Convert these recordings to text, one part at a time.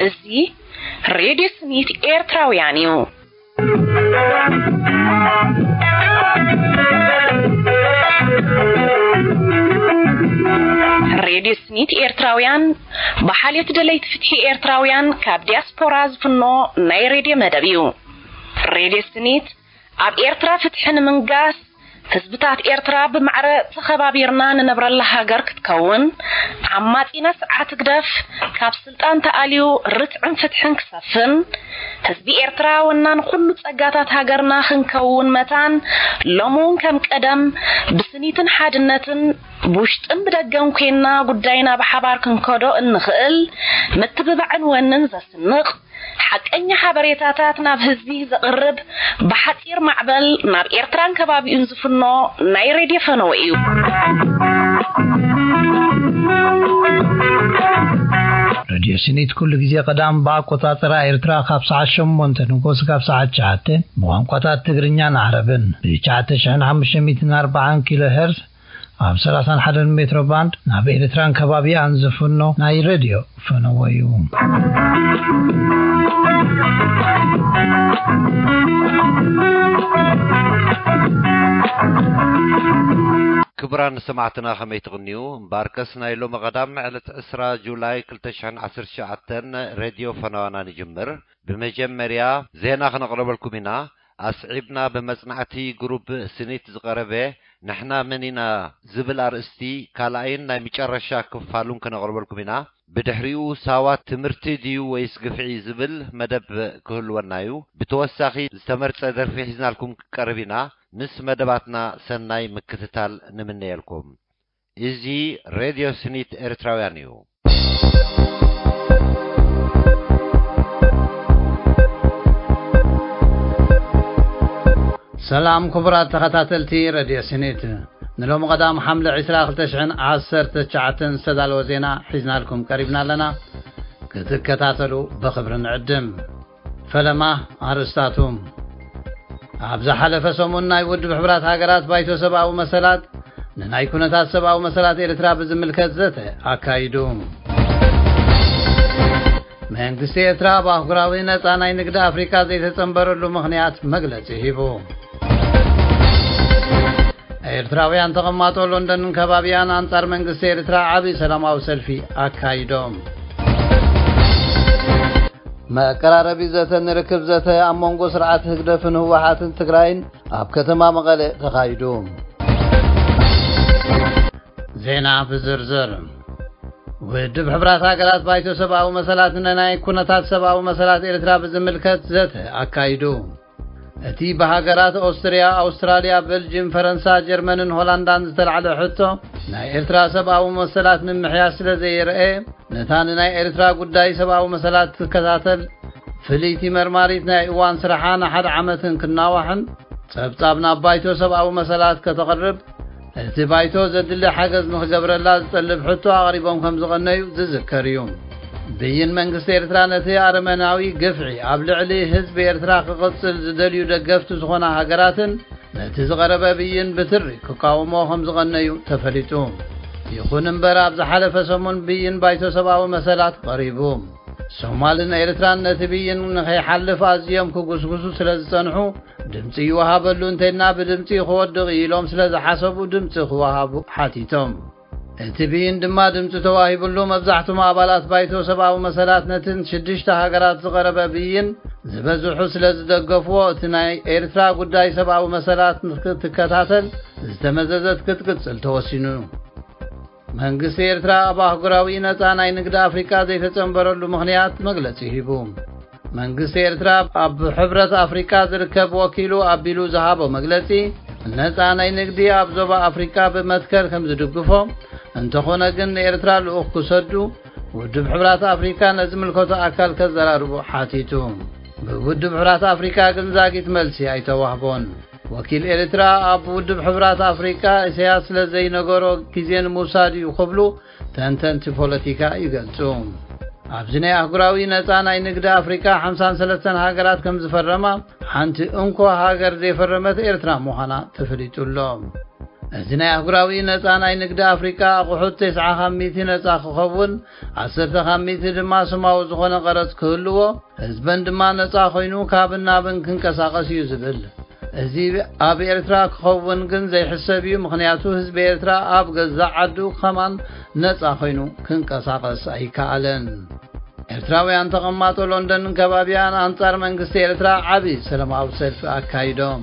እዚ ሬድዮ ስኒት ኤርትራውያን እዩ። ሬድዮ ስኒት ኤርትራውያን ብሓልዮት ደለይቲ ፍትሒ ኤርትራውያን ካብ ዲያስፖራ ዝፍኖ ናይ ሬድዮ መደብ እዩ። ሬድዮ ስኒት ኣብ ኤርትራ ፍትሒ ንምንጋስ፣ ህዝብታት ኤርትራ ብማዕረ ተኸባቢርና ንነብረላ ሃገር ክትከውን፣ ዓማጺና ስርዓት ህግደፍ ካብ ስልጣን ተኣልዩ ርትዕን ፍትሕን ክሰፍን፣ ህዝቢ ኤርትራ ወናን ኩሉ ጸጋታት ሃገርና ክንከውን መታን፣ ሎሚ እውን ከም ቀደም ብስኒትን ሓድነትን ብውሽጥን ብደገን ኮይንና ጉዳይና ብሓባር ክንከዶ እንኽእል ምትብባዕን ወንን ዘስንቕ ሓቀኛ ሓበሬታታት ናብ ህዝቢ ዘቕርብ ብሓጺር ማዕበል ናብ ኤርትራን ከባቢኡን ዝፍኖ ናይ ሬድዮ ፈነወ እዩ። ሬድዮ ስኒት ኩሉ ግዜ ቀዳም ብኣቆጻጽራ ኤርትራ ካብ ሰዓት ሸሞንተ ንጎስ ካብ ሰዓት ትሽዓተ ብቋንቋታት ትግርኛን ዓረብን ብ ትሽዓተ ሽሕን ሓሙሽተ ሚእትን ኣርባዓን ኪሎ ሄርዝ ኣብ ሰላሳን ሓደን ሜትሮ ባንድ ናብ ኤርትራን ከባቢኣን ዝፍኖ ናይ ሬድዮ ፈነወ እዩ። ክቡራን ሰማዕትና ከመይ ትቕንዩ? እምበኣርከስ ናይ ሎሚ ቀዳም ዕለት ዕስራ ጁላይ ክልተ ሽሕን ዓሰርተ ትሽዓተን ሬድዮ ፈነዋና ንጅምር። ብመጀመርያ ዜና ክነቕርበልኩም ኢና። ኣስዒብና ብመጽናዕቲ ግሩፕ ስኒት ዝቐረበ ንሕና መን ኢና ዝብል ኣርእስቲ ካልኣይን ናይ መጨረሻ ክፋሉን ክነቕርበልኩም ኢና። ብድሕሪኡ ሳዋ ትምህርቲ ድዩ ወይስ ግፍዒ ዝብል መደብ ክህልወና እዩ። ብተወሳኺ ዝተመርጸ ደርፊ ሒዝናልኩም ክቀርብ ኢና። ምስ መደባትና ሰናይ ምክትታል ንምነየልኩም። እዚ ሬድዮ ስኒት ኤርትራውያን እዩ። ሰላም ክቡራት ተኸታተልቲ ሬድዮ ስኒት፣ ንሎሚ ቀዳም ሓምለ ዕስራ ክልተ ሽሕን ዓሰርተ ትሽዓተን ዝተዳለወ ዜና ሒዝናልኩም ቀሪብና ኣለና። ክትከታተሉ ብኽብሪ ንዕድም። ፈለማ ኣርእስታቱ። ኣብ ዝሓለፈ ሰሙን ናይ ውድብ ሕብራት ሃገራት ባይቶ ሰብኣዊ መሰላት ንናይ ኩነታት ሰብኣዊ መሰላት ኤርትራ ብዝምልከት ዘተ ኣካይዱ። መንግስቲ ኤርትራ ኣብ ኣህጉራዊ ነጻ ናይ ንግዲ ኣፍሪካ ዘይተጸንበረሉ ምኽንያት መግለጺ ሂቡ። ኤርትራውያን ተቐማጦ ሎንደንን ከባቢያን ኣንጻር መንግስቲ ኤርትራ ዓቢ ሰላማዊ ሰልፊ ኣካይዶም። መቀራረቢ ዘተ ንርክብ ዘተ ኣብ መንጎ ስርዓት ህግደፍን ህወሓትን ትግራይን ኣብ ከተማ መቐለ ተኻይዱ። ዜና ብዝርዝር። ውድብ ሕብራት ሃገራት ባይቶ ሰብኣዊ መሰላት ንናይ ኩነታት ሰብኣዊ መሰላት ኤርትራ ብዝምልከት ዘተ ኣካይዱ። እቲ ብሃገራት ኦስትርያ፣ ኣውስትራልያ፣ በልጅም፣ ፈረንሳ፣ ጀርመንን ሆላንዳን ዝተላዕለ ሕቶ ናይ ኤርትራ ሰብኣዊ መሰላት ምምሕያሽ ስለ ዘየርኤ፣ ነታ ንናይ ኤርትራ ጉዳይ ሰብኣዊ መሰላት ትከታተል ፍልይቲ መርማሪት ናይ እዋን ስራሓ ንሓደ ዓመትን ክናዋሕን ጸብጻብ ናብ ባይቶ ሰብኣዊ መሰላት ከተቕርብ እቲ ባይቶ ዘድሊ ሓገዝ ንኽገብረላ ዝጠልብ ሕቶ ኣቕሪቦም ከም ዝቐነዩ ዝዝከር እዩ። ብይን መንግስቲ ኤርትራ ነቲ ኣረመናዊ ግፍዒ ኣብ ልዕሊ ህዝቢ ኤርትራ ክቕጽል ዝደልዩ ደገፍቲ ዝኾና ሃገራትን ነቲ ዝቐረበ ብይን ብትሪ ክቃወሞ ከም ዝቐነዩ ተፈሊጡ። ይኹን እምበር ኣብ ዝሓለፈ ሰሙን ብይን ባይቶ ሰብኣዊ መሰላት ቀሪቡ። ሶማልን ኤርትራን ነቲ ብይን ንኸይሓልፍ ኣዝዮም ክጉስጉሱ ስለ ዝጸንሑ ድምጺ ይወሃበሉ እንተይልና ብድምጺ ክወድቕ ኢሎም ስለ ዝሓሰቡ ድምጺ ክወሃቡ ሓቲቶም። እቲ ብይን ድማ ድምጺ ተዋሂብሉ። መብዛሕትኦም ኣባላት ባይቶ ሰብኣዊ መሰላት ነትን ሽዱሽተ ሃገራት ዝቐረበ ብይን ዝበዝሑ ስለ ዝደገፍዎ እቲ ናይ ኤርትራ ጉዳይ ሰብኣዊ መሰላት ክትከታተል ዝተመዘዘት ክትቅጽል ተወሲኑ። መንግስቲ ኤርትራ ኣብ ኣህጉራዊ ነጻ ናይ ንግዲ ኣፍሪቃ ዘይተጸንበረሉ ምኽንያት መግለጺ ሂቡ። መንግስቲ ኤርትራ ኣብ ሕብረት ኣፍሪቃ ዝርከብ ወኪሉ ኣቢሉ ዝሃቦ መግለጺ ነጻ ናይ ንግዲ ኣብ ዞባ ኣፍሪቃ ብመትከል ከም ዝድግፎ፣ እንተኾነ ግን ንኤርትራ ልኡኽ ክሰዱ ውድብ ሕብራት ኣፍሪቃ ነዝምልከቶ ኣካል ከዘራርቡ ሓቲቱ። ብውድብ ሕብራት ኣፍሪቃ ግን ዛጊት መልሲ ኣይተዋህቦን። ወኪል ኤርትራ ኣብ ውድብ ሕብራት ኣፍሪቃ ኢሳያስ ስለ ዘይነገሮ ግዜ ንምውሳድ እዩ ክብሉ ተንተንቲ ፖለቲካ ይገልጹ። ኣብዚ ናይ ኣህጉራዊ ነጻ ናይ ንግዲ ኣፍሪቃ ሓምሳን ሰለስተን ሃገራት ከም ዝፈረማ፣ ሓንቲ እንኮ ሃገር ዘይፈረመት ኤርትራ ምዃና ተፈሊጡ ኣሎ። እዚ ናይ ኣህጉራዊ ነጻ ናይ ንግዲ ኣፍሪቃ ኣቑሑት ተስዓ ካብ ሚእቲ ነጻ ክኸውን፣ ዓሰርተ ካብ ሚእቲ ድማ ስማዊ ዝኾነ ቀረጽ ክህልዎ፣ ህዝበን ድማ ነጻ ኮይኑ ካብን ናብን ክንቀሳቐስ እዩ ዝብል። እዚ ኣብ ኤርትራ ክኸውን ግን ዘይሕሰብ እዩ፣ ምኽንያቱ ህዝቢ ኤርትራ ኣብ ገዛእ ዓዱ ከማን ነጻ ኮይኑ ክንቀሳቐስ ኣይከኣለን። ኤርትራውያን ተቐማጦ ሎንደንን ከባቢያን ኣንጻር መንግስቲ ኤርትራ ዓቢ ሰላማዊ ሰልፊ ኣካይዶም።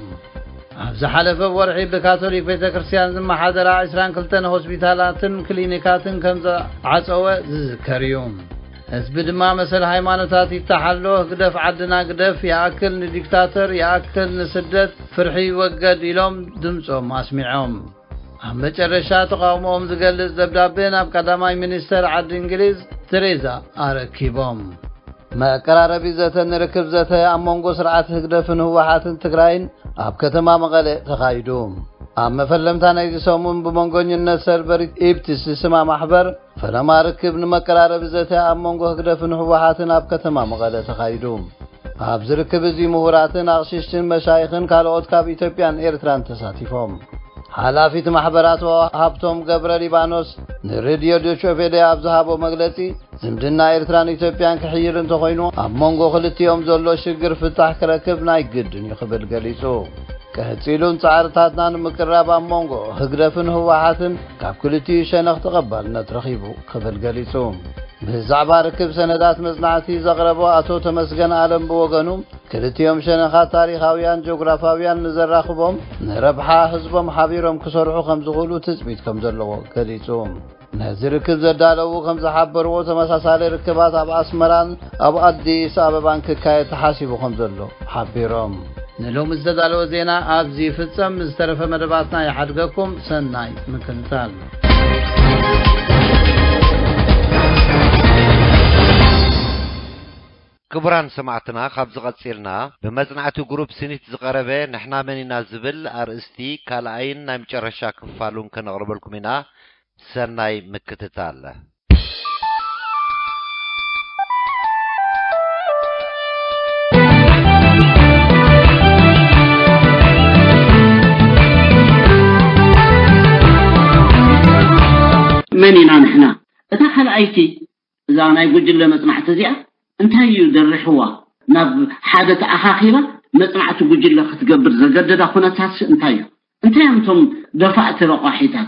ኣብ ዝሓለፈ ወርሒ ብካቶሊክ ቤተ ክርስቲያን ዝመሓደራ ዕስራን ክልተን ሆስፒታላትን ክሊኒካትን ከም ዝዓጸወ ዝዝከር እዩ። ህዝቢ ድማ መሰል ሃይማኖታት ይተሓሎ፣ ህግደፍ ዓድና ግደፍ፣ ይኣክል ንዲክታተር፣ ይኣክል ንስደት፣ ፍርሒ ይወገድ ኢሎም ድምጾም ኣስሚዖም። ኣብ መጨረሻ ተቓውሞኦም ዝገልጽ ደብዳቤ ናብ ቀዳማይ ሚኒስተር ዓዲ እንግሊዝ ቴሬዛ ኣረኪቦም። መቀራረቢ ዘተ ንርክብ ዘተ ኣብ መንጎ ስርዓት ህግደፍን ህወሓትን ትግራይን ኣብ ከተማ መቐለ ተኻይዱ። ኣብ መፈለምታ ናይዚ ሰሙን ብመንጎኝነት ሰርበሪት ኢብትስ ዝስማ ማሕበር ፈለማ ርክብ ንመቀራረቢ ዘተ ኣብ መንጎ ህግደፍን ህወሓትን ኣብ ከተማ መቐለ ተኻይዱ። ኣብዚ ርክብ እዚ ምሁራትን ኣቕሽሽትን መሻይኽን ካልኦት ካብ ኢትዮጵያን ኤርትራን ተሳቲፎም። ሓላፊት ማሕበር ኣቶ ሃብቶም ገብረ ሊባኖስ ንሬድዮ ዶቼ ቬለ ኣብ ዝሃቦ መግለጺ፣ ዝምድና ኤርትራን ኢትዮጵያን ክሕይል እንተኾይኑ፣ ኣብ መንጎ ክልቲኦም ዘሎ ሽግር ፍታሕ ክረክብ ናይ ግድን እዩ ክብል ገሊጹ። ቀጺሉን ጻዕርታትና ንምቅራብ ኣብ መንጎ ህግደፍን ህወሓትን ካብ ክልቲኡ ሸነኽ ተቐባልነት ረኺቡ ክብል ገሊጹ። ብዛዕባ ርክብ ሰነዳት መጽናዕቲ ዘቕረቦ ኣቶ ተመስገን ኣለም ብወገኑ፣ ክልቲኦም ሸነኻት ታሪኻውያን ጂኦግራፋውያን ንዘራኽቦም ንረብሓ ህዝቦም ሓቢሮም ክሰርሑ ከም ዝኽእሉ ትጽቢት ከም ዘለዎ ገሊጹ። ነዚ ርክብ ዘዳለዉ ከም ዝሓበርዎ፣ ተመሳሳሊ ርክባት ኣብ ኣስመራን ኣብ ኣዲስ ኣበባን ክካየድ ተሓሲቡ ከም ዘሎ ሓቢሮም። ንሎሚ ዝተዳለወ ዜና ኣብዚ ይፍጸም። ዝተረፈ መደባትና ይሓድገኩም። ሰናይ ምክትታል። ክቡራን ሰማዕትና፣ ካብ ዝቐጺልና ብመጽናዕቲ ግሩፕ ስኒት ዝቐረበ ንሕና መን ኢና ዝብል ኣርእስቲ ካልኣይን ናይ መጨረሻ ክፋሉን ከነቕርበልኩም ኢና። ሰናይ ምክትታል። መን ኢና ንሕና? እታ ካልኣይቲ፣ እዛ ናይ ጉጅለ መጽናዕቲ እዚኣ እንታይ እዩ ደሪሕዋ? ናብ ሓደ ተኣኻኺባ መጽናዕቲ ጉጅለ ክትገብር ዘገደዳ ኩነታትስ እንታይ እዩ? እንታይ እዮም እቶም ደፋእቲ ረቋሒታት?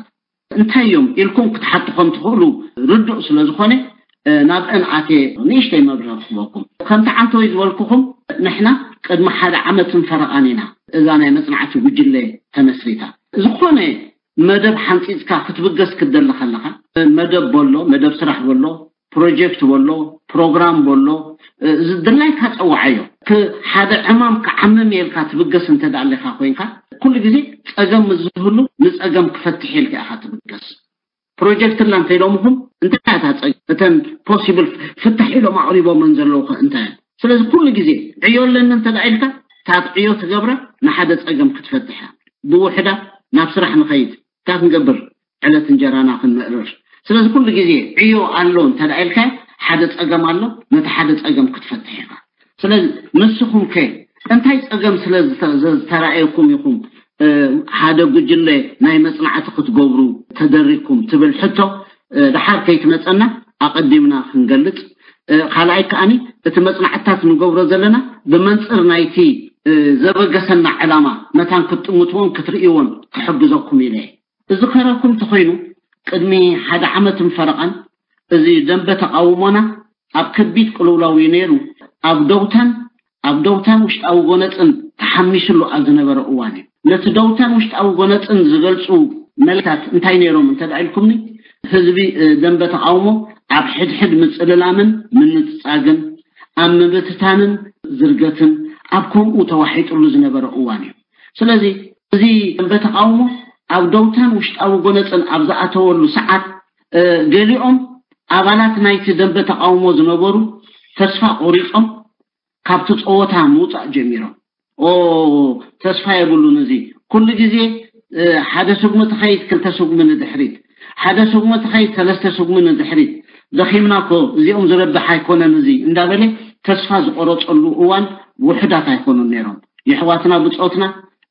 እንታይ እዮም ኢልኩም ክትሓቱ ከም ትኽእሉ ርዱእ ስለ ዝኾነ፣ እ፣ ናብአን ኣትየ ንእሽተይ መብርሂ ክህበኩም። ከምቲ ዓንተወይ ዝበልኩኹም፣ ንሕና ቅድሚ ሓደ ዓመትን ፈረቓን ኢና እዛ ናይ መጽናዕቲ ጉጅለ ተመስሪታ። ዝኾነ መደብ ሓንጺጽካ ክትብገስ ክትደሊ ከለኻ፣ መደብ በሎ፣ መደብ ስራሕ በሎ፣ ፕሮጀክት በሎ፣ ፕሮግራም በሎ፣ እ፣ ዝድላይካ ጸውዓዮ። ክ-፣ ሓደ ዕማም ክዓምም ኢልካ ትብገስ እንተ ደኣ ኣለኻ ኮይንካ፣ ኩሉ ግዜ ጸገም ምስ ዝህሉ ንጸገም ክፈትሕ ኢልካ ኢኻ ትብገስ። ፕሮጀክት ኣላ እንተ ኢሎምኹም፣ እንታይ እያ እታ ጸገም? እተን ፖሲብል ፍታሕ ኢሎም ኣቕሪቦመን ዘለዉ ከ እንታይ እየን? ስለዚ ኩሉ ግዜ ዕዮ ኣለኒ እንተ ደኣ ኢልካ፣ እታ ዕዮ ትገብራ ንሓደ ጸገም ክትፈትሕ እያ። ብውሕዳ ናብ ስራሕ ንኸይድ፣ እንታይ ክንገብር? ዕለት እንጀራና ክንምእርር። ስለዚ ኩሉ ግዜ ዕዮ ኣሎ እንተ ደኣ ኢልካ፣ ሓደ ጸገም ኣሎ፣ ነቲ ሓደ ጸገም ክትፈትሕ ኢኻ። ስለዚ ንስኹም ከ እንታይ ጸገም ስለ ዝተ-፣ ዝተራእየኩም ኢኹም፣ እ፣ ሓደ ጉጅለ ናይ መጽናዕቲ ክትገብሩ ተደሪግኩም ትብል ሕቶ፣ እ፣ ደሓር ከይትመጸና ኣቐዲምና ክንገልጽ። እ፣ ካልኣይ ከኣኒ እቲ መጽናዕትታት ንገብሮ ዘለና ብመንጽር ናይቲ፣ እ፣ ዘበገሰና ዕላማ መታን ክትጥምትዎን ክትርእይዎን ክሕግዘኩም ኢለ እየ። ዝኸረኩም ተኾይኑ፣ ቅድሚ ሓደ ዓመትን ፈረቓን እዚ ደንበ ተቓውሞና ኣብ ከቢድ ቅልውላው እዩ ነይሩ። ኣብ ደውታን፣ ኣብ ደውታን ውሽጣዊ ጎነጽን ተሓሚሱሉ ኣብ ዝነበረ እዋን እዩ። ነቲ ደውታን ውሽጣዊ ጎነጽን ዝገልጹ መልእክታት እንታይ ነይሮም እንተ ደኣ ኢልኩምኒ፣ ህዝቢ፣ እ፣ ደንበ ተቓውሞ ኣብ ሕድሕድ ምጽልላምን ምንጽጻግን፣ ኣብ ምብትታንን ዝርገትን ኣብ ከምኡ ተዋሒጡሉ ዝነበረ እዋን እዩ። ስለዚ እዚ ደንበ ተቓውሞ ኣብ ደውታን ውሽጣዊ ጎነጽን ኣብ ዝኣተወሉ ሰዓት፣ እ፣ ገሊኦም ኣባላት ናይቲ ደንበ ተቓውሞ ዝነበሩ ተስፋ ቆሪጾም ካብቲ ጸወታ ምውጻእ ጀሚሮም። ኦ፣ ተስፋ የብሉን እዚ። ኩሉ ግዜ፣ እ፣ ሓደ ስጉሚ ትኸይድ፣ ክልተ ስጉሚ ንድሕሪት፣ ሓደ ስጉሚ ትኸይድ፣ ሰለስተ ስጉሚ ንድሕሪት። ደኺምና እኮ፣ እዚኦም ዝረብሕ ኣይኮነን እዚ እንዳበለ ተስፋ ዝቆረፀሉ እዋን ውሑዳት ኣይኮኑን ነይሮም። የሕዋትና ብፆትና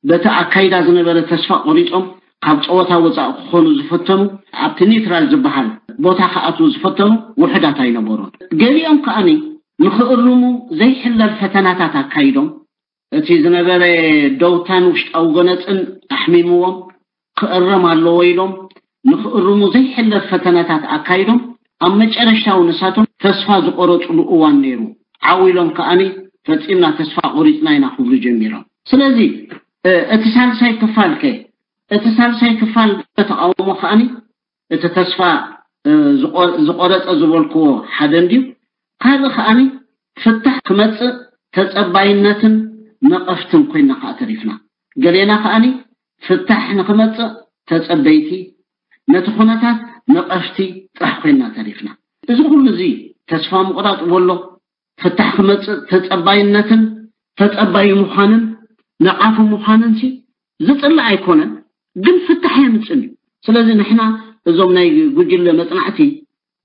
በቲ ኣካይዳ ዝነበረ ተስፋ ቆሪፆም ካብ ፀወታ ወፃኢ ክኾኑ ዝፈተኑ፣ ኣብቲ ኒውትራል ዝበሃል ቦታ ክኣትዉ ዝፈተኑ ውሑዳት ኣይነበሩን። ገሊኦም ከኣኒ ንኽእርሙ ዘይሕለል ፈተናታት ኣካይዶም፣ እቲ ዝነበረ ደውታን ውሽጣዊ ጎነፅን ኣሕሚምዎም ክእረም ኣለዎ ኢሎም ንኽእርሙ ዘይሕለል ፈተናታት ኣካይዶም፣ ኣብ መጨረሽታዊ ንሳቶም ተስፋ ዝቆረፅሉ እዋን ነይሩ። ዓው ኢሎም ከኣኒ ፈፂምና ተስፋ ቆሪፅና ኢና ክብሉ ጀሚሮም። ስለዚ እቲ ሳልሳይ ክፋል ከ እቲ ሳልሳይ ክፋል ተቃውሞ ከኣኒ እቲ ተስፋ ዝቆረፀ ዝበልክዎ ሓደ እንድዩ። ካልእ ከኣኒ ፍታሕ ክመፅእ ተፀባይነትን ነቐፍትን ኮይና ከዓ ተሪፍና። ገሌና ከኣኒ ፍታሕ ንክመፅእ ተፀበይቲ፣ ነቲ ኩነታት ነቐፍቲ ጥራሕ ኮይና ተሪፍና። እዚ ኩሉ እዚ ተስፋ ምቑራፅ ወሎ ፍታሕ ክመፅእ ተፀባይነትን ተፀባይ ምዃንን ነቓፊ ምዃንን ሲ ዝፅላእ ኣይኮነን፣ ግን ፍታሕ የምፅን እዩ። ስለዚ ንሕና እዞም ናይ ጉጅለ መፅናዕቲ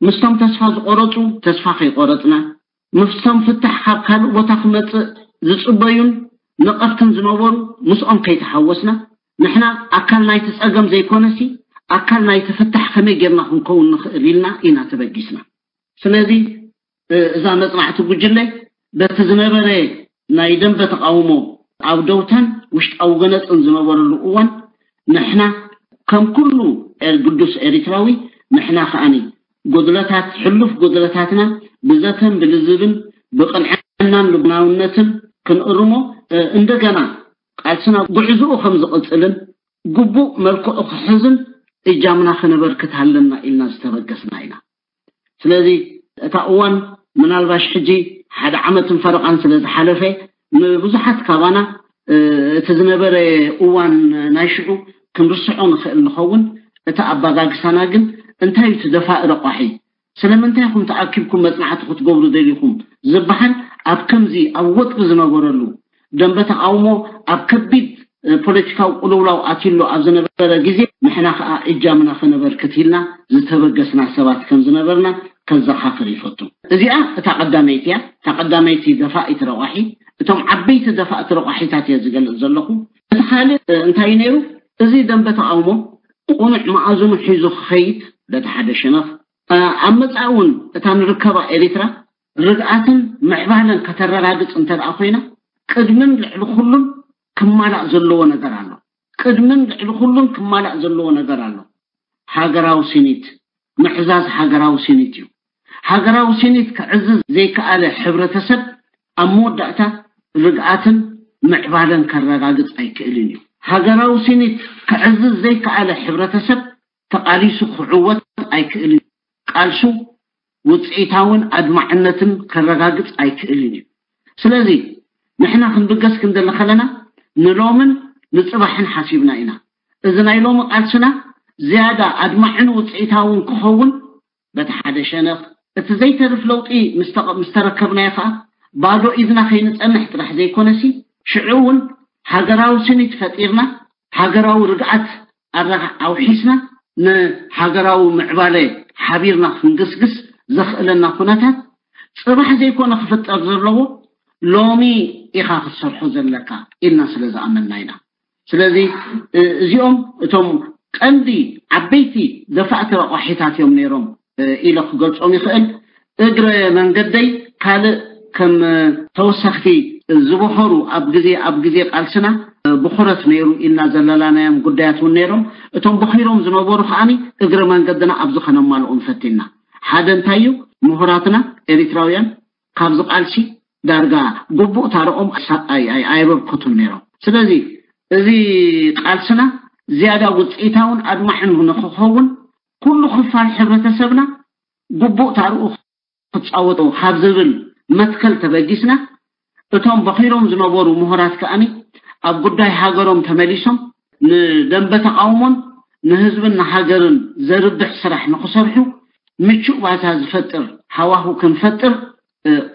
ምስቶም ተስፋ ዝቆረፁ ተስፋ ከይቆረፅና፣ ምስቶም ፍታሕ ካብ ካልእ ቦታ ክመፅእ ዝፅበዩን ነቐፍትን ዝነበሩ ምስኦም ከይተሓወስና፣ ንሕና ኣካል ናይቲ ፀገም ዘይኮነሲ ኣካል ናይቲ ፍታሕ ከመይ ጌርና ክንከውን ንኽእል ኢልና ኢና ተበጊስና። ስለዚ እዛ መፅናዕቲ ጉጅለ በቲ ዝነበረ ናይ ደንበ ተቃውሞ ኣብ ደውታን ውሽጣዊ ገነፅን ዝነበረሉ እዋን ንሕና ከም ኩሉ ግዱስ ኤሪትራዊ ንሕና ከኣኒ ጉድለታት ሕሉፍ ጉድለታትና ብዘተን ብልዝብን ብቅንዕናን ልቡናውነትን ክንእርሞ እንደገና ቃልስና ጉዕዝኡ ከም ዝቕፅልን ግቡእ መልክዑ ክሕዝን እጃምና ከነበርክት ኣለና ኢልና ዝተበገስና ኢና። ስለዚ እታ እዋን ምናልባሽ ሕጂ ሓደ ዓመትን ፈረቓን ስለ ዝሓለፈ ንብዙሓት ካባና እቲ ዝነበረ እዋን ናይ ሽዑ ክንርስዖ ንኽእል ንኸውን። እቲ ኣባጋግሳና ግን እንታይ እዩ እቲ ደፋኢ ረቋሒ? ስለምንታይ ኢኹም ተኣኪብኩም መጽናዕቲ ክትገብሩ ደሊኹም ዝበሃል ኣብ ከምዚ ኣብ ወጥሪ ዝነበረሉ ደንበ ተቃውሞ ኣብ ከቢድ ፖለቲካዊ ቅልውላው ኣትሎ ኣብ ዝነበረ ግዜ ንሕና ከኣ እጃምና ከነበርክት ኢልና ዝተበገስና ሰባት ከም ዝነበርና ከዘኻኽር ይፈቱ። እዚኣ እታ ቀዳመይቲ እያ። እታ ቀዳመይቲ ደፋኢት ረቋሒ፣ እቶም ዓበይቲ ደፋእቲ ረቋሒታት እየ ዝገልጽ ዘለኹ። እቲ ካልእ እንታይ ነይሩ? እዚ ደንበ ተቃውሞ ቁኑዕ መኣዝኑ ሒዙ ክኸይድ በቲ ሓደ ሸነኽ፣ ኣብ መጻኢ እውን እታ ንርከባ ኤሪትራ ርግኣትን ምዕባለን ከተረጋግጽ እንተ ደኣ ኮይና ቅድምን ልዕሊ ኩሉን ክማላእ ዘለዎ ነገር ኣሎ። ቅድምን ልዕሊ ኩሉን ክማላእ ዘለዎ ነገር ኣሎ። ሃገራዊ ስኒት፣ ምዕዛዝ ሃገራዊ ስኒት እዩ። ሃገራዊ ስኒት ክዕዝዝ ዘይከኣለ ሕብረተሰብ ኣብ መወዳእታ ርግኣትን ምዕባለን ከረጋግጽ ኣይክእልን እዩ። ሃገራዊ ስኒት ክዕዝዝ ዘይከኣለ ሕብረተሰብ ተቓሊሱ ክዕወት ኣይክእልን እዩ። ቃልሱ ውፅኢታውን ኣድማዕነትን ከረጋግጽ ኣይክእልን እዩ። ስለዚ ንሕና ክንብገስ ክንደሊ ከለና ንሎምን ንፅባሕን ሓሲብና ኢና። እዚ ናይ ሎሚ ቃልስና ዝያዳ ኣድማዕን ውፅኢታውን ክኸውን በቲ ሓደ ሸነኽ፣ እቲ ዘይተርፍ ለውጢ ምስ ተረከብናዮ ከዓ ባዶ ኢድና ከይንፀንሕ ጥራሕ ዘይኮነሲ ሽዑ እውን ሃገራዊ ስኒት ፈጢርና ሃገራዊ ርግኣት ኣውሒስና ንሃገራዊ ምዕባለ ሓቢርና ክንግስግስ ዘኽእለና ኩነታት ፅባሕ ዘይኮነ ክፍጠር ዘለዎ ሎሚ ኢኻ ክትሰርሖ ዘለካ ኢልና ስለ ዝኣመንና ኢና። ስለዚ እዚኦም እቶም ቀንዲ ዓበይቲ ደፋእቲ ረቋሒታት እዮም ነይሮም ኢለ ክገልጾም ይኽእል። እግረ መንገደይ ካልእ ከም ተወሰኽቲ ዝበኸሩ ኣብ ግዜ ኣብ ግዜ ቃልስና ብኹረት ነይሩ ኢልና ዘለላናዮም ጉዳያት እውን ነይሮም። እቶም በኺሮም ዝነበሩ ከዓኒ እግረ መንገድና ኣብዚ ከነማልኦም ፈቲና። ሓደ እንታይ እዩ? ምሁራትና ኤሪትራውያን ካብዚ ቃልሲ ዳርጋ ግቡእ ታረኦም ኣየበርከቱን ነይሮም። ስለዚ እዚ ቃልስና ዝያዳ ውፅኢታውን ኣድማዕን ንክኸውን ኩሉ ክፋል ሕብረተሰብና ግቡእ ታርኡ ክፃወቶ ካብ ዝብል መትከል ተበጊስና እቶም በኺሮም ዝነበሩ ምሁራት ከኣኒ ኣብ ጉዳይ ሃገሮም ተመሊሶም ንደንበ ተቃውሞን ንህዝብን ንሃገርን ዘርብሕ ስራሕ ንክሰርሑ ምቹእ ባይታ ዝፈጥር ሃዋሁ ክንፈጥር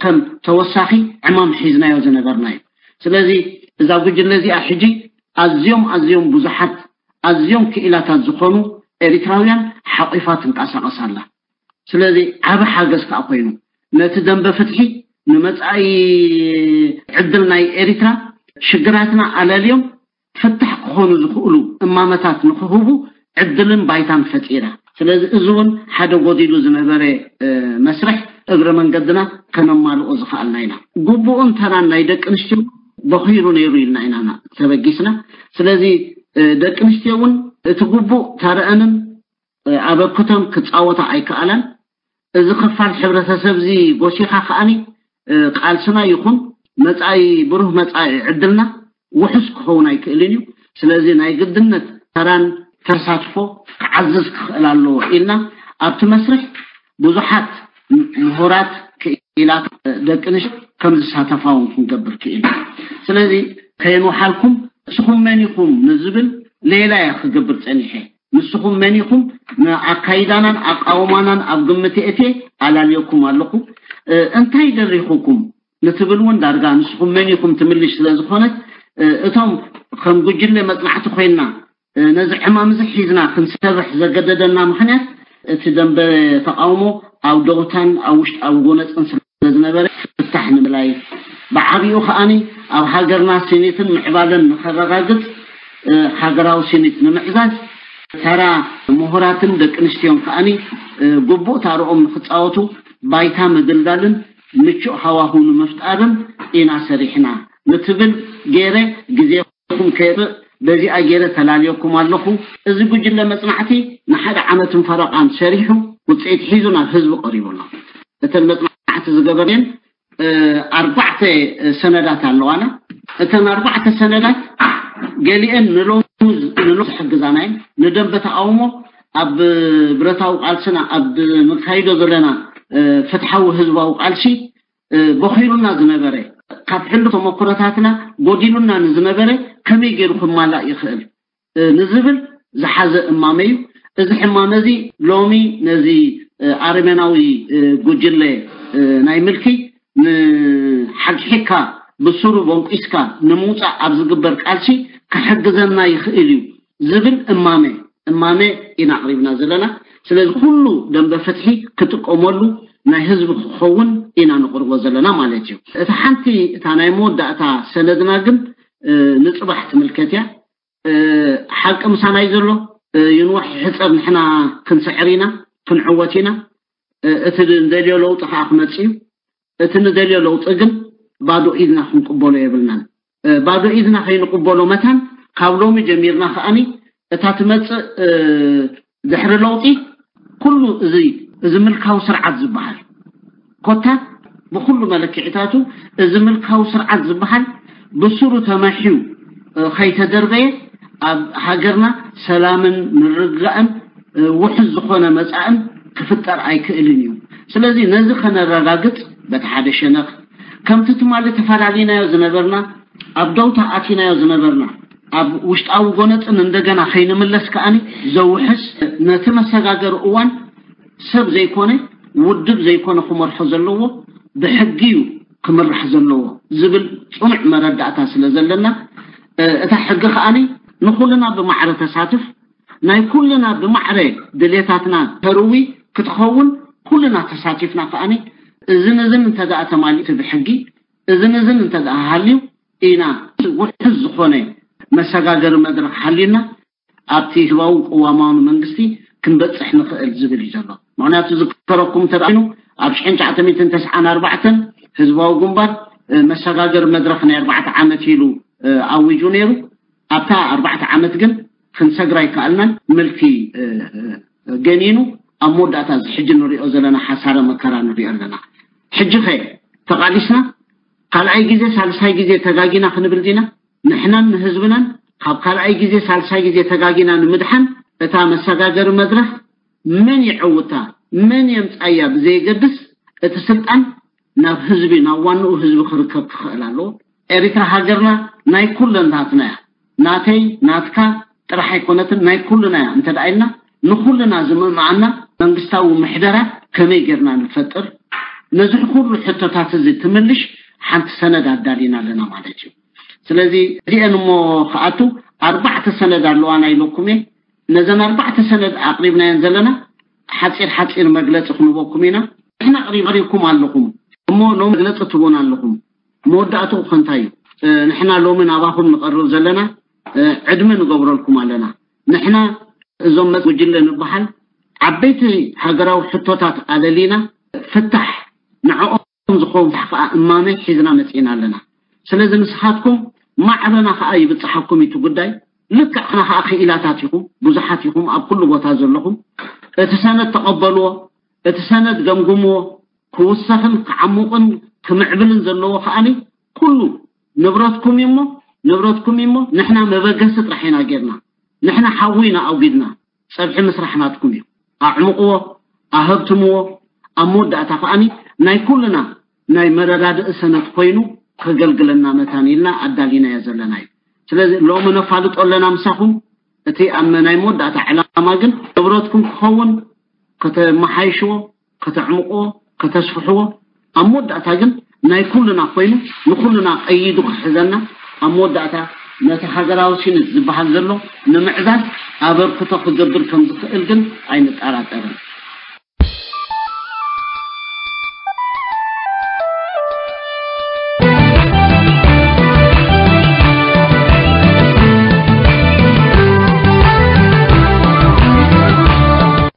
ከም ተወሳኺ ዕማም ሒዝናዮ ዝነበርና እዩ። ስለዚ እዛ ጉጅለ እዚኣ ሕጂ ኣዝዮም ኣዝዮም ብዙሓት ኣዝዮም ክኢላታት ዝኾኑ ኤሪትራውያን ሓቂፋ ትንቀሳቐስ ኣላ። ስለዚ ዓቢ ሓገዝ ከዓ ኮይኑ ነቲ ደንበ ፍትሒ ንመጻኢ ዕድል ናይ ኤሪትራ ሽግራትና ኣለልዮም ፍታሕ ክኾኑ ዝኽእሉ እማመታት ንክህቡ ዕድልን ባይታን ፈጢራ። ስለዚ እዚ እውን ሓደ ጎዲሉ ዝነበረ መስርሕ እግረ መንገድና ከነማልኦ ዝኽኣልና ኢና። ግቡእን ተራን ናይ ደቂ ኣንስትዮ በኺሩ ነይሩ ኢልና ኢና ተበጊስና። ስለዚ ደቂ ኣንስትዮ እውን እቲ ግቡእ ተረአንን ኣበክቶን ክፃወታ ኣይከኣላን። እዚ ክፋል ሕብረተሰብ እዚ ጎሲኻ ከኣኒ ቃልስና ይኹን መፃኢ ብሩህ መፃኢ ዕድልና ውሑስ ክኸውን ኣይክእልን እዩ። ስለዚ ናይ ግድነት ተራን ተሳትፎ ክዓዝዝ ክኽእል ኣለዎ ኢልና ኣብቲ መስርሕ ብዙሓት ምሁራት ክኢላት ደቂ ኣንስትዮ ከም ዝሳተፋ እውን ክንገብር ክኢልና። ስለዚ ከየንውሓልኩም ንስኹም መን ኢኹም ንዝብል ሌላ እየ ክገብር ፀኒሐ። ንስኹም መን ኢኹም ንኣካይዳናን ኣቃውማናን ኣብ ግምት የእትየ ኣላልየኩም ኣለኹ። እንታይ ደሪኹኩም ንትብል እውን ዳርጋ ንስኹም መን ኢኹም ትምልሽ ስለ ዝኾነት እቶም ከም ጉጅለ መፅናዕቲ ኮይንና ነዚ ዕማም እዚ ሒዝና ክንሰርሕ ዘገደደና ምኽንያት እቲ ደንበ ተቃውሞ ኣብ ደውታን ኣብ ውሽጣዊ ጎነፅን ስለ ዝነበረ ፍታሕ ንምላይ ብዓብኡ ከኣኒ ኣብ ሃገርና ስኒትን ምዕባለን ንኸረጋግፅ ሃገራዊ ስኒት ንምዕዛዝ ተራ ምሁራትን ደቂ ኣንስትዮን ከኣኒ ግቡእ ታርኦም ንክፃወቱ ባይታ ምድልዳልን ምቹእ ሃዋሁ ንምፍጣርን ኢና ሰሪሕና ንትብል ገይረ ግዜኹም ከየጥፍእ በዚኣ ገይረ ተላልየኩም ኣለኹ። እዚ ጉጅለ መፅናዕቲ ንሓደ ዓመትን ፈረቓን ሰሪሑ ውፅኢት ሒዙ ናብ ህዝቢ ቀሪቡ ኣሎ። እተን መፅናዕቲ ዝገበርየን ኣርባዕተ ሰነዳት ኣለዋና። እተን ኣርባዕተ ሰነዳት ገሊአን ንሎሚ ንሎ ዝሕግዛና እየን። ንደንበ ተቃውሞ ኣብ ብረታዊ ቃልስና ኣብ ንካይዶ ዘለና ፍትሓዊ ህዝባዊ ቃልሲ በኺሩና ዝነበረ ካብ ሕሉፍ ተመክሮታትና ጎዲሉና ንዝነበረ ከመይ ገይሩ ክማላእ ይኽእል ንዝብል ዝሓዘ እማመ እዩ። እዚ ሕማመ እዚ ሎሚ ነዚ ኣረሜናዊ ጉጅለ ናይ ምልኪ ንሓግሒግካ ብሱሩ ቦንቂስካ ንምውፃእ ኣብ ዝግበር ቃልሲ ክሕግዘና ይኽእል እዩ ዝብል እማመ እማመ ኢና ኣቕሪብና ዘለና። ስለዚ ኩሉ ደንበ ፍትሒ ክጥቀመሉ ናይ ህዝቢ ክኸውን ኢና ንቕርቦ ዘለና ማለት እዩ። እታ ሓንቲ እታ ናይ መወዳእታ ሰነድና ግን ንፅባሕ ትምልከት እያ። ሓቂ ምሳናይ ዘሎ ይንዋሕ ይሕፀር ንሕና ክንስዕር ኢና ክንዕወት ኢና። እቲ ንደልዮ ለውጢ ከዓ ክመፅእ እዩ። እቲ ንደልዮ ለውጢ ግን ባዶ ኢድና ክንቅበሎ የብልናን። ባዶ ኢድና ከይንቅበሎ መታን ካብ ሎሚ ጀሚርና ከዓኒ እታ ትመፅእ ድሕሪ ለውጢ ኩሉ እዚ እዚ ምልካዊ ስርዓት ዝበሃል ኮታ ብኩሉ መለክዒታቱ እዚ ምልካዊ ስርዓት ዝበሃል ብስሩ ተመሕዩ ከይተደርበየ ኣብ ሃገርና ሰላምን ምርግጋእን ውሕስ ዝኾነ መፃእን ክፍጠር ኣይክእልን እዩ። ስለዚ ነዚ ከነረጋግፅ በቲ ሓደ ሸነኽ ከምቲ ትማሊ ተፈላለናዮ ዝነበርና ኣብ ደውታ ኣቲናዮ ዝነበርና ኣብ ውሽጣዊ ጎነፅን እንደገና ከይንምለስ ከዓኒ ዘውሕስ ነቲ መሰጋገሪ እዋን ሰብ ዘይኮነ ውድብ ዘይኮነ ክመርሖ ዘለዎ ብሕጊ እዩ ክምራሕ ዘለዎ ዝብል ፅኑዕ መረዳእታ ስለ ዘለና እታ ሕጊ ከዓኒ ንኩልና ብማዕረ ተሳትፍ ናይ ኩልና ብማዕረ ድሌታትና ተርዊ ክትኸውን ኩልና ተሳቲፍና ከዓኒ እዝን እዝን እንተደኣ ተማሊእቲ ብሕጊ እዝን እዝን እንተደኣ ሃልዩ ኢና ውሕዝ ዝኾነ መሰጋገሪ መድረክ ሃልዩና ኣብቲ ህዝባዊ ቅዋማዊ መንግስቲ ክንበፅሕ ንኽእል ዝብል እዩ ዘሎ። ምክንያቱ ዝከረኩም እንተደኣ ኮይኑ ኣብ ሽሕን ትሽዓተ ሚእትን ተስዓን ኣርባዕተን ህዝባዊ ግንባር መሰጋገሪ መድረክ ናይ ኣርባዕተ ዓመት ኢሉ ኣዊጁ ነይሩ። ኣብታ ኣርባዕተ ዓመት ግን ክንሰግራ ኣይከኣልናን። ምልኪ ገኒኑ ኣብ መወዳእታ እዚ ሕጂ ንሪኦ ዘለና ሓሳረ መከራ ንሪኦ ኣለና። ሕጂ ኸ ተቓሊስና ካልኣይ ግዜ ሳልሳይ ግዜ ተጋጊና ክንብል ዲና? ንሕናን ንህዝብናን ካብ ካልኣይ ግዜ ሳልሳይ ግዜ ተጋጊና ንምድሓን እታ መሰጋገሪ መድረኽ መን ይዐውታ መን የምፃያ ብዘየገድስ እቲ ስልጣን ናብ ህዝቢ ናብ ዋንኡ ህዝቢ ክርከብ ክኽእል ኣለዎ። ኤሪትራ ሃገርና ናይ ኩለንታትና እያ። ናተይ ናትካ ጥራሕ ኣይኮነትን ናይ ኩልና እያ እንተ ደኣ ኢልና ንኩልና ዝምእምኣና መንግስታዊ ምሕደራ ከመይ ጌርና ንፈጥር ነዚ ኩሉ ሕቶታት እዚ ትምልሽ ሓንቲ ሰነድ ኣዳሊና ኣለና ማለት እዩ። ስለዚ እዚአን እሞ ክኣቱ ኣርባዕተ ሰነድ ኣለዋ ናይ ሎኩም እየ ነዘን ኣርባዕተ ሰነድ ኣቕሪብናየን ዘለና ሓፂር ሓፂር መግለፂ ክንበኩም ኢና። ንሕና ቅሪብ ቀሪብኩም ኣለኹም እሞ ሎም መግለፂ ትቦን ኣለኹም። መወዳእትኡ ከንታይ እዩ? ንሕና ሎሚ ናባኹም ንቐርብ ዘለና ዕድመ ንገብረልኩም ኣለና። ንሕና እዞም መ ጉጅለ ንበሃል ዓበይቲ ሃገራዊ ሕቶታት ኣለሊና ፍታሕ ንዕኦም ዝኸውን ፍታሕ ከዓ እማመ ሒዝና መፂእና ኣለና። ስለዚ ንስኻትኩም ማዕረና ከዓ ይብፅሓኩም እዩ እቲ ጉዳይ። ልክዕና ከዓ ክኢላታት ኢኹም፣ ብዙሓት ኢኹም ኣብ ኩሉ ቦታ ዘለኹም። እቲ ሰነድ ተቐበልዎ፣ እቲ ሰነድ ገምግምዎ። ክውሰኽን ክዓሙቕን ክምዕብልን ዘለዎ ከዓኒ ኩሉ ንብረትኩም እዩ እሞ ንብረትኩም እዩ እሞ ንሕና መበገሲ ጥራሕ ኢና ጌርና። ንሕና ሓዊ ኢና ኣውጊድና። ፀብሒ ምስራሕ ናትኩም እዩ። ኣዕምቕዎ፣ ኣሀብትምዎ። ኣብ መወዳእታ ከዓኒ ናይ ኩልና ናይ መረዳድኢ ሰነድ ኮይኑ ከገልግለና መታን ኢልና ኣዳሊናዮ ዘለና እዩ። ስለዚ ሎሚ ነፋልጦ ኣለና ምሳኹም። እቲ ኣብ ናይ መወዳእታ ዕላማ ግን ንብረትኩም ክኸውን ከተመሓይሽዎ፣ ከተዕምቕዎ፣ ከተስፍሕዎ፣ ኣብ መወዳእታ ግን ናይ ኩልና ኮይኑ ንኩልና ቀይዱ ክሕዘና፣ ኣብ መወዳእታ ነቲ ሃገራዊ ሲነት ዝበሃል ዘሎ ንምዕዛዝ ኣበርክቶ ክገብር ከም ዝኽእል ግን ኣይንጠራጠርን።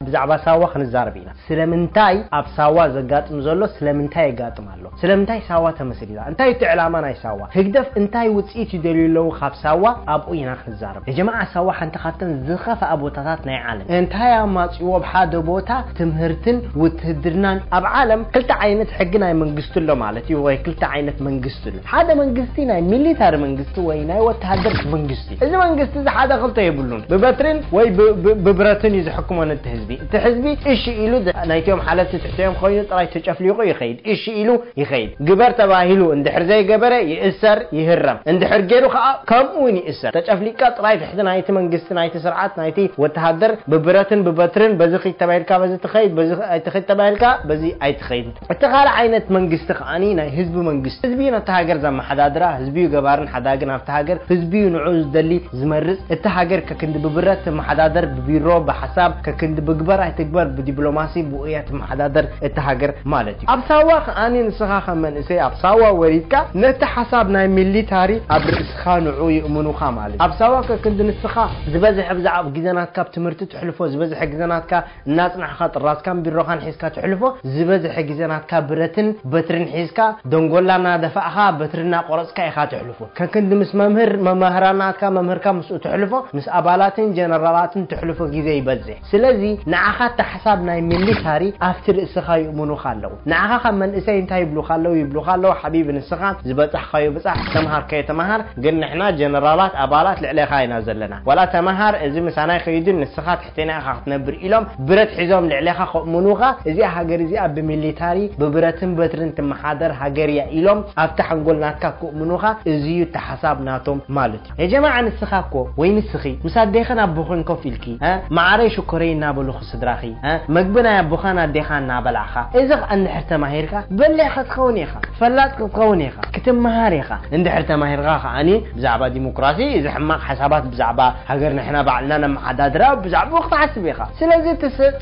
ብዛዕባ ሳዋ ክንዛረብ ኢና። ስለምንታይ ኣብ ሳዋ ዘጋጥም ዘሎ ስለምንታይ የጋጥም ኣሎ? ስለምንታይ ሳዋ ተመስሪታ? እንታይ እቲ ዕላማ ናይ ሳዋ? ህግደፍ እንታይ ውፅኢት ይደልዩ ኣለዉ ካብ ሳዋ? ኣብኡ ኢና ክንዛረብ። የጀማዓ ሳዋ ሓንቲ ካብተን ዝኸፍኣ ቦታታት ናይ ዓለም። እንታይ ኣማፅዎ ኣብ ሓደ ቦታ ትምህርትን ውትህድርናን? ኣብ ዓለም ክልተ ዓይነት ሕጊ ናይ መንግስቲ ኣሎ ማለት እዩ፣ ወይ ክልተ ዓይነት መንግስቲ ኣሎ። ሓደ መንግስቲ ናይ ሚሊታሪ መንግስቲ ወይ ናይ ወተሃደር መንግስቲ። እዚ መንግስቲ እዚ ሓደ ክልተ የብሉን። ብበትርን ወይ ብ- ብ- ብብረትን እዩ ዝሕክሞ ነቲ ህዝቢ። እቲ ህዝቢ እሺ ኢሉ ድ- ናይቶም ሓለፍቲ ትሕተዮም ኮይኑ ጥራይ ተጨፍሊቑ ይኸይድ። እሺ ኢሉ ይኸይድ። ግበር ተባሂሉ እንድሕር ዘይገበረ ይእሰር፣ ይህረም። እንድሕር ገይሩ ከዓ ከምኡ እውን ይእሰር። ተጨፍሊቅካ ጥራይ ትሕቲ ናይቲ መንግስቲ፣ ናይቲ ስርዓት፣ ናይቲ ወተሃደር ብብረትን ብበትርን በዚ ኺድ ተባሂልካ በዚ ትኸይድ፣ በዚ ኣይትኸይድ ተባሂልካ በዚ ኣይትኸይድ። እቲ ካልእ ዓይነት መንግስቲ ከዓኒ ናይ ህዝቢ መንግስቲ። ህዝቢ እዩ ነቲ ሃገር ዘመሓዳድራ፣ ህዝቢ እዩ ገባርን ሓዳግን ኣብቲ ሃገር፣ ህዝቢ እዩ ንዑ ዝደሊ ዝመርጽ። እቲ ሃገር ከክንዲ ብብረት ትመሓዳደር፣ ብቢሮ፣ ብሓሳብ፣ ከክንዲ ብግበር ኣይትግበር፣ ብዲፕሎማሲ፣ ብኡ እያ ትመሓዳደር እቲ ሃገር ማለት እዩ። ኣብ ሳዋ ከዓኒ ንስኻ ከም መንእሰይ ኣብ ሳዋ ወሪድካ ነቲ ሓሳብ ናይ ሚሊታሪ ኣብ ርእስኻ ንዑ ይእምኑኻ ማለት እዩ። ኣብ ሳዋ ከክንዲ ንስኻ ዝበዝሐ ብዛዕባ ግዜ ናትካ ኣብ ትምህርቲ ትሕልፎ፣ ዝበዝሐ ግዜ ናትካ እናጽናሕካ ጥራዝካን ቢሮኻን ሒዝካ ትሕልፎ፣ ዝበዝሐ ግዜ ናትካ ብረትን በትርን ሒዝካ ደንጎላ እናደፋእኻ በትሪ እናቆረጽካ ኢኻ ትሕልፎ። ከክንዲ ምስ መምህር መማህራን ናትካ መምህርካ ምስኡ ትሕልፎ፣ ምስ ኣባላትን ጀነራላትን ትሕልፎ ግዜ ይበዝሕ። ስለዚ ንዓኻ እቲ ሓሳብ ናይ ሚሊታሪ ኣብቲ ርእስኻ ይእምኑኻ ኣለዉ። ንዓኻ ካብ መንእሰይ እንታይ ይብሉኻ ኣለዉ? ይብሉኻ ኣለዉ ሓቢቢ ንስኻ ዝበጻሕካዮ ብጻሕ፣ ዝተምሃርካዮ ተምሃር፣ ግን ንሕና ጀነራላት ኣባላት ልዕሌኻ ኢና ዘለና። ዋላ ተምሃር እዚ ምሳና ይኸይድን ንስኻ ትሕቴና ኢኻ ክትነብር ኢሎም ብረት ሒዞም ልዕሌኻ ከእምኑኻ፣ እዚኣ ሃገር እዚኣ ብሚሊታሪ ብብረትን በትርን ትመሓደር ሃገር እያ ኢሎም ኣብቲ ሓንጎል ናትካ ከእምኑኻ፣ እዚ እዩ እቲ ሓሳብ ናቶም ማለት እዩ። የጀማዓ ንስኻ እኮ ወይ ንስኺ ምስ ኣዴኽን ኣቦኽን ኮፍ ኢልኪ እ፣ መዓረይ ሽኮረይ እናበሉኺ ስድራኺ እ፣ መግቢ ናይ ኣቦኻን ኣዴኻ እናበላዕኻ፣ እዚ ኸኣ እንድሕር ተማሂርካ በሊሕ ክትኸውን ኢኻ፣ ፈላጥ ክትኸውን ኢኻ፣ ክትመሃር ኢኻ። እንድሕር ተማሂርካ ከዓኒ ብዛዕባ ዲሞክራሲ፣ እዚ ሕማቕ ሓሳባት ብዛዕባ ሃገር ንሕና ባዕልና ነመሓዳድራ ብዛዕባኡ ክትሓስብ ኢኻ። ስለዚ እቲ ስ-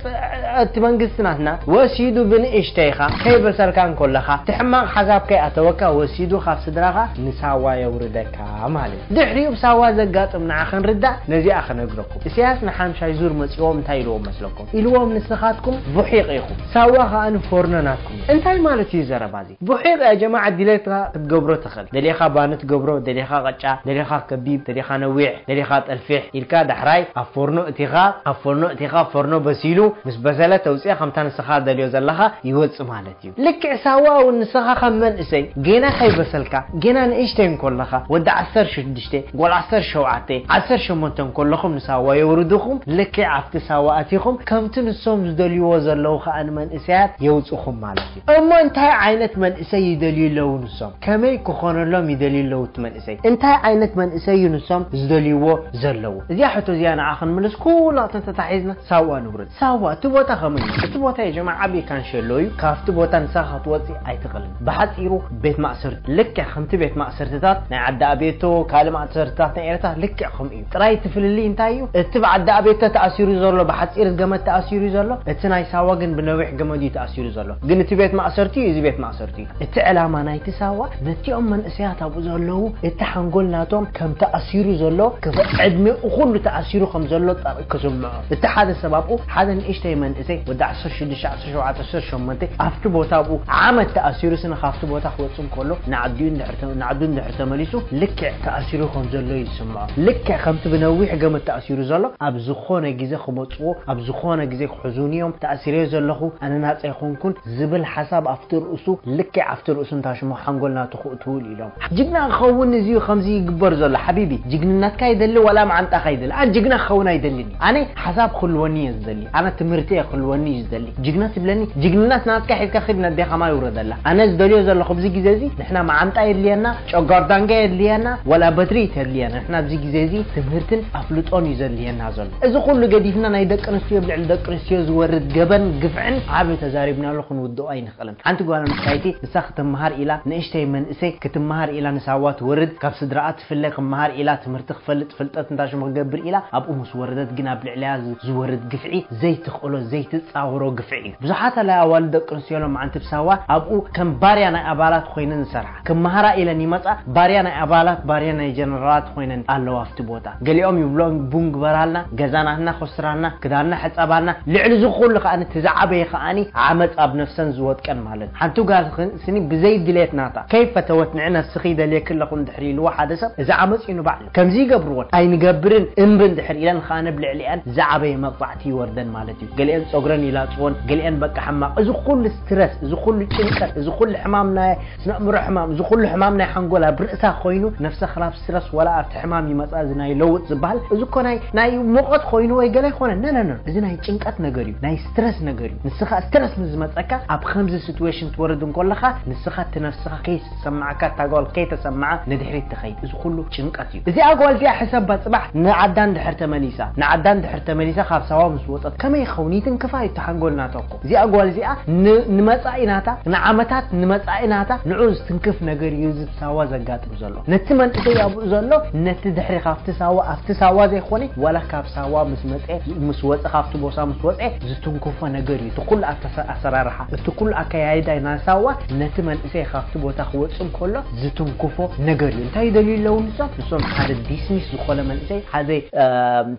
እቲ መንግስቲ ናትና ወሲዱ ብንእሽተይኻ ከይበሰልካ እንከለኻ እቲ ሕማቕ ሓሳብ ከይኣተወካ ወሲዱ ካብ ስድራኻ ንሳዋ የውርደካ ማለት እዩ። ድሕሪኡ ብሳዋ ዘጋጥም ንዓ ክንርዳእ ነዚኣ ክነግረኩም። እስያስ ንሓምሻይ ዙር መጺዎም እንታይ ኢልዎም መስለኩም? ኢልዎም ንስኻትኩም ቡሒቕ ኢኹም፣ ሳዋ ከኣ ንፎርኖ ናትኩም። እንታይ ማለት እዩ ዘረባ እዚ? ቡሒቕ ያ ጀማዓ ድሌትካ ክትገብሮ ትኽእል። ደሊኻ ባኒ ትገብሮ፣ ደሊኻ ቐጫ፣ ደሊኻ ከቢብ፣ ደሊኻ ነዊሕ፣ ደሊኻ ጠልፊሕ ኢልካ ዳሕራይ ኣብ ፎርኖ እቲኻ፣ ኣብ ፎርኖ እቲኻ ፎርኖ በሲሉ ምስ በሰለ ተውፅያ ከምታ ንስኻ ደልዮ ዘለኻ ይወፅእ ማለት እዩ። ልክዕ ሳዋ እውን ንስኻ ከም መንእሰይ ጌና ከይበሰልካ ጌና ንእሽተይ እንኮለኻ ወዲ ዓሰርተ ሽዱሽተ ጎል ዓሰርተ ሸውዓተ ዓሰርተ ሸሞንተ እንኮለኹም ንሳዋ የውርድኹም ልክዕ ኣብቲ ሳዋ ኣቲኹም ከምቲ ንሶም ዝደልይዎ ዘለዉ ከዓ ንመንእሰያት የውፅኹም ማለት እዩ። እሞ እንታይ ዓይነት መንእሰይ ይደልዩ ኣለዉ ንሶም? ከመይ ክኾነሎም ይደልዩ ኣለዉ እቲ መንእሰይ? እንታይ ዓይነት መንእሰይ እዩ ንሶም ዝደልይዎ ዘለዉ? እዚኣ ሕቶ እዚኣ ንዓ ክንምልስ ኩላትና ተታሒዝና ሳዋ ንውርድ። ሳዋ እቲ ቦታ ከመይ እዩ? እቲ ቦታ የጀማ ዓብዪ ካንሸሎ እዩ። ካብቲ ቦታ ንሳ ክትወፅእ ኣይትኽእልን። ብሓፂሩ ቤት ማእሰርቲ ልክዕ ከምቲ ቤት ማእሰርትታት ናይ ዓዲ ኣቤቶ ካልእ ማእሰርትታት ናይ ኤርትራ ልክዕ ከምኡ እዩ። ጥራይ እቲ ፍልልይ እንታይ እዩ? እቲ ብዓዲ ኣቤቶ ተኣሲሩ ዘሎ ብሓፂር ዝገመት ተኣሲሩ ዘሎ፣ እቲ ናይ ሳዋ ግን ብነዊሕ ገመድ እዩ ተኣሲሩ ዘሎ። ግን እቲ ቤት ማእሰርቲ እዩ፣ እዚ ቤት ማእሰርቲ እዩ። እቲ ዕላማ ናይቲ ሳዋ ነቲኦም መንእሰያት ኣብኡ ዘለዉ እቲ ሓንጎል ናቶም ከም ተኣሲሩ ዘሎ፣ ክፍ ዕድሜኡ ኩሉ ተኣሲሩ ከም ዘሎ ጠ- ክስምዖ። እቲ ሓደ ሰብ ኣብኡ ሓደ ንእሽተይ መንእሰይ ወዲ ዓሰርተ ሽዱሽተ፣ ዓሰርተ ሸውዓተ፣ ዓሰርተ ሸሞንተ ኣብቲ ቦታ ኣብኡ ዓመት ተኣሲሩ ስነ ካብቲ ቦታ ክወጽእ እንከሎ ንዓዲኡ እንድሕር ተ- ንዓዱ እንድሕር ተመሊሱ ልክዕ ተኣሲሩ ከም ዘሎ እዩ ዝስምዖ። ልክዕ ከምቲ ብነዊሕ ገመድ ተኣሲሩ ዘሎ ኣብ ዝኾነ ግዜ ክመጽዎ፣ ኣብ ዝኾነ ግዜ ክሕዙን እዮም። ተኣሲረ ዘለኹ ኣነ ናጻ ኣይኮንኩን ዝብል ሓሳብ ኣብቲ ርእሱ ልክዕ ኣብቲ ርእሱ እንታሽሞ ሓንጎል ናቱ ክእትውል ኢሎም። ጅግና ክኸውን እዚ እዩ ከምዚ ይግበር ዘሎ ሓቢቢ። ጅግንነትካ ይደሊ ዋላ መዓንጣኻ ይደሊ። ኣነ ጅግና ክኸውን ኣይደልን እዩ። ኣነ ሓሳብ ክህልወኒ እየ ዝደሊ። ኣነ ትምህርቲ እየ ክህልወኒ እዩ ዝደሊ። ጅግና ትብለኒ፣ ጅግንነት ናትካ ሒዝካ ኺድ ነዴኻ ማይ ውረደላ። ኣነ ዝደልዮ ዘለኹ ኣብዚ ግዜ እዚ ንሕና መዓንጣ የድልየና፣ ጨጓር ዳንጋ የድልየና፣ ዋላ በትሪ ተድልየና። ንሕና ኣብዚ ግዜ እዚ ትምህርትን ኣፍልጦን እዩ ዘድልየና ዘሎ። እዚ ኩሉ ገዲፍና ናይ ደቂ ኣንስትዮ ብልዕሊ ደቂ ኣንስትዮ ዝወርድ ገበን ግፍዕን ዓቢ ተዛሪብናሉ ክንውድኦ ኣይንኽእልን። ሓንቲ ጓል ኣንስተይቲ ንሳ ክትመሃር ኢላ፣ ንእሽተይ መንእሰይ ክትመሃር ኢላ ንሳዋ ትወርድ፣ ካብ ስድራኣ ትፍለ ክመሃር ኢላ ትምህርቲ ክፈልጥ ፍልጠት እንታሽሙ ክገብር ኢላ ኣብኡ ምስ ወረደት ግን ኣብ ልዕሊያ ዝ- ዝወርድ ግፍዒ ዘይትኽእሎ ዘይትጻወሮ ግፍዒ እዩ። ብዙሓት ኣላይ ኣዋልድ ደቂ ኣንስትዮ ሎም ዓንቲ ብሳዋ ኣብኡ ከም ባርያ ናይ ኣባላት ኮይነን ዝሰርሓ። ክመሃራ ኢለን ይመጻ፣ ባርያ ናይ ኣባላት፣ ባርያ ናይ ጀነራላት ኮይነን ኣለዋ ኣብቲ ቦታ። ገሊኦም ይብሎም ቡን ግበራልና፣ ገዛናትና ኮስራልና፣ ክዳንና ሕጸባልና፣ ልዕሊ እዚ ኩሉ ከኣ እቲ ዝዓበየ ከኣ ዓመጽ ኣብ ነፍሰን ዝወጥቀን ማለት። ሓንቲ ጓል ኽ- ስኒ ብዘይ ድሌት ናታ ከይፈተወት ንዕ ነፍስኺ ደልየኪ ኣለኹ እንድሕር ኢልዎ ሓደ ሰብ እዚ ዓመጽ እዩ ንባዕሉ። ከምዚ ይገብርዎን ኣይንገብርን እምቢ እንድሕር ኢለን ከኣ ብልዕሊኣን ዝዓበየ መቕጻዕቲ ይወርደን ማለት እዩ። ገሊአን ጸጉረን ይላጽዎን፣ ገሊአን በቃ ሕማቕ። እዚ ኩሉ ስትረስ፣ እዚ ኩሉ ጭንቀት፣ እዚ ኩሉ ሕማም ናይ ስነ ኣእምሮ ሕማም፣ እዚ ኩሉ ሕማም ናይ ሓንጎል ኣብ ርእሳ ኮይኑ ነፍሰ ክላብ ስትረስ ወላ ኣብቲ ሕማም ይመጻ እዚ ናይ ለውጥ ዝበሃል እዚ እኮ ናይ ናይ ሙቐት ኮይኑ ወይ ገለ ይኮነ ነነነ እዚ ናይ ጭንቀት ነገር እዩ፣ ናይ ስትረስ ነገር እዩ። ንስኻ ስትረስ ምስ ዝመጸካ ኣብ ከምዚ ሲትዌሽን ትወርድ እንኮለኻ ንስኻ እቲ ነፍስኻ ከይሰማዕካ እታ ጓል ከይተሰማዓ ንድሕሪት ትኸይድ። እዚ ኩሉ ጭንቀት እዩ። እዚኣ ጓል እዚኣ ሕሰባ ጽባሕ ንዓዳ እንድሕር ተመሊሳ ንዓዳ እንድሕር ተመሊሳ ካብ ሳዋ ምስ ወጸት ከመይ ይኸውን ይትንክፋ እዩ እቲ ሓንጎል ናታ እኮ። እዚኣ ጓል እዚኣ ን- ንመጻኢ ናታ ንዓመታት ንመጻኢ ናታ ንዑ ዝትንክፍ ነገር እዩ እዚ ሳዋ ዘጋጥም ዘሎ። ነቲ መንእሰይ ኣብኡ ዘሎ ነቲ ድሕሪ ካብቲ ሳዋ ኣብቲ ሳዋ ዘይኮነ ዋላ ካብ ሳዋ ምስ መጸ ምስ ወጸ ካብቲ ቦታ ምስ ወጸ ዝትንክፎ ነገር እዩ። እቲ ኩሉ ኣተሰ- ኣሰራርሓ እቲ ኩሉ ኣከያይዳ ናይ ሳዋ ነቲ መንእሰይ ካብቲ ቦታ ክወጽእ እንከሎ ዝትንክፎ ነገር እዩ። እንታይ ይደልዩ ኣለዉ ንሶም? ንሶም ሓደ ዲስሚስ ዝኾነ መንእሰይ ሓደ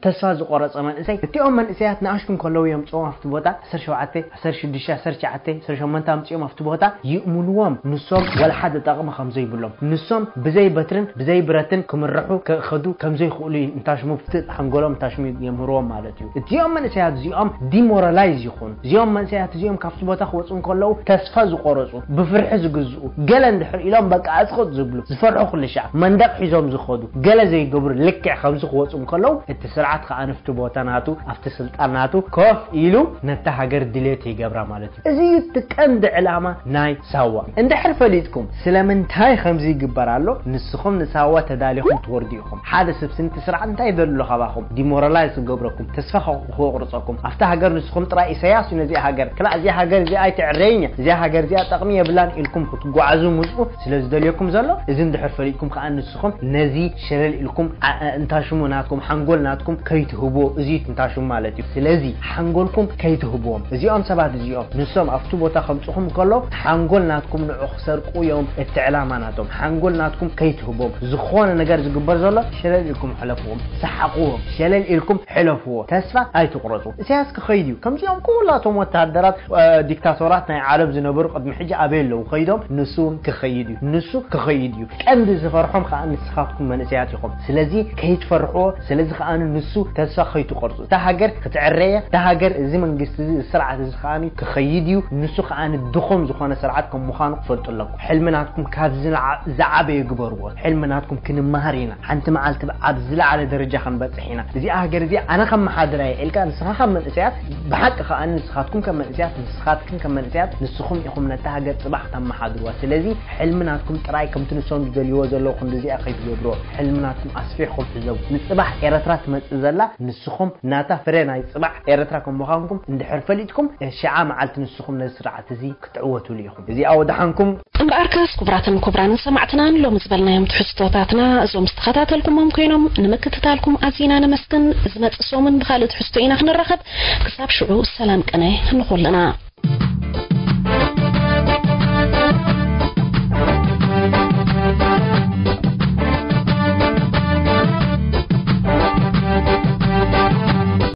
ተስፋ ዝቆረጸ መንእሰይ እቲኦም መንእሰያት ንኣሽቱ እንከለዉ እዮም ጽኦም ኣብቲ ቦታ ዓሰርተ ሸውዓተ ዓሰርተ ሽዱሽተ ዓሰርተ ትሽዓተ ዓሰርተ ሸሞንተ ኣምጺኦም ኣብቲ ቦታ ይእምንዎም ንሶም ወላ ሓደ ጠቕሚ ከም ዘይብሎም ንሶም ብዘይ በትርን ብዘይ ብረትን ክምርሑ ክኸዱ ከም ዘይኽእሉ እዩ እንታሽሙ ብቲ ሓንጎሎም እንታሽሙ የምህርዎም ማለት እዩ። እዚኦም መንእሰያት እዚኦም ዲሞራላይዝ ይኾኑ። እዚኦም መንእሰያት እዚኦም ካብቲ ቦታ ክወፁ እንከለዉ ተስፋ ዝቆረፁ ብፍርሒ ዝግዝኡ ገለ እንድሕር ኢሎም በቃ ኣፅቕጥ ዝብሉ ዝፈርሑ ኩሉ ሻዕ መንደቕ ሒዞም ዝኸዱ ገለ ዘይገብሩ ልክዕ ከምዚ ክወፁ እንከለዉ እቲ ስርዓት ከዓ ንፍቲ ቦታ ናቱ ኣብቲ ስልጣን ናቱ ኮፍ ኢሉ ነታ ሃገር ድሌት ይገብራ ማለት እዩ። እዚ እዩ እቲ ቀንዲ ዕላማ ናይ ሳዋ። እንድሕር ፈሊጥኩም ስለምንታይ ከምዚ ይግበር ኣሎ ንስኹም ንሳዋ ተዳሊኹም ትወርዱ ኢኹም። ሓደ ሰብ ስንቲ ስርዓት እንታይ ይደሉ ካባኹም ዲሞራላይዝ ክገብረኩም ተስፋ ክቑርፀኩም ኣብታ ሃገር ንስኹም ጥራይ ኢሳያስ እዩ ነዚኣ ሃገር ክላእ እዚኣ ሃገር እዚኣ ኣይትዕረይን እያ እዚኣ ሃገር እዚኣ ጠቕሚ የብላን ኢልኩም ክትጓዓዙ ምፅኡ ስለ ዝደልየኩም ዘሎ እዚ እንድሕር ፈሊጥኩም ከዓ ንስኹም ነዚ ሸለል ኢልኩም ዓ- እንታሽሙ ናትኩም ሓንጎል ናትኩም ከይትህብዎ እዚ እዩ ትንታሽሙ ማለት እዩ። ስለዚ ሓንጎልኩም ከይትህብዎም እዚኦም ሰባት እዚኦም ንሶም ኣብቲ ቦታ ከምፅኹም ከሎ ሓንጎል ናትኩም ንዑ ክሰርቁ እዮም እቲ ዕላማ ናቶም። ሓንጎል ናትኩም ከይትህብዎም ዝኾነ ነገር ዝግበር ዘሎ ሸለል ኢልኩም ሕለፍዎም፣ ሰሓቕዎም፣ ሸለል ኢልኩም ሕለፍዎ። ተስፋ ኣይትቑረፁ። ኢሳያስ ክኸይድ እዩ። ከምዚኦም ኩላቶም ወታደራት ዲክታቶራት ናይ ዓለም ዝነበሩ ቅድሚ ሕጂ ኣበይ ኣለዉ ከይዶም ንሱ እውን ክኸይድ እዩ ንሱ ክኸይድ እዩ ቀንዲ ዝፈርሖም ከዓ ንስኻትኩም መንእሰያት ኢኹም ስለዚ ከይትፈርሕዎ ስለዚ ከዓ ንሱ ተስፋ ከይትቆርፁ እታ ሃገር ክትዕረየ እታ ሃገር እዚ መንግስቲ እዚ ስርዓት እዚ ከዓ ክኸይድ እዩ ንሱ ከዓ ድኹም ዝኾነ ስርዓት ከም ምዃኑ ክፈልጡ ኣለኩም ሕልሚ ናትኩም ካብ ዝዓበየ ግበርዎ ሕልሚ ናትኩም ክንመሃር ኢና ሓንቲ መዓልቲ ኣብ ዝለዓለ ደረጃ ክንበፅሕ ኢና እዚኣ ሃገር እዚኣ ኣነ ከመሓድራ እየ ኢልካ ንስኻ ካብ መንእሰያት ብሓቂ ከዓ ንስኻትኩም ከም መንእሰያት ንስኻትክን ከም መንእሰያት ንስኹም ኢኹም ነታ ሃገር ፅባሕ ክተመሓድርዋ ስለዚ ሕልሚ ናትኩም ጥራይ ከምቲ ንሶም ዝደልይዎ ዘለዉ ክንዲ እዚኣ ከይትገብርዎ ሕልሚ ናትኩም ኣስፊሕኩም ሕዘቡ ንፅባሕ ኤረትራ ትመፅእ ዘላ ንስኹም ናታ ፍረ ናይ ፅባሕ ኤረትራ ከም ምዃንኩም እንድሕር ፈሊጥኩም ሽዓ መዓልቲ ንስኹም ነዚ ስርዓት እዚ ክትዕወትሉ ኢኹም እዚኣ ወድሓንኩም እምበኣርከስ ክቡራትን ክቡራንን ሰማዕትናን ሎሚ ዝበልናዮም ትሕዝቶታትና እዞም ዝተኸታተልኩሞም ኮይኖም ንምክትታልኩም ኣዚና ነመስግን ዝመጽእ ሰሙን ብኻልእ ትሕዝቶ ኢና ክንራኸብ ክሳብ ሽዑ ሰላም ቅነ ንኹልና።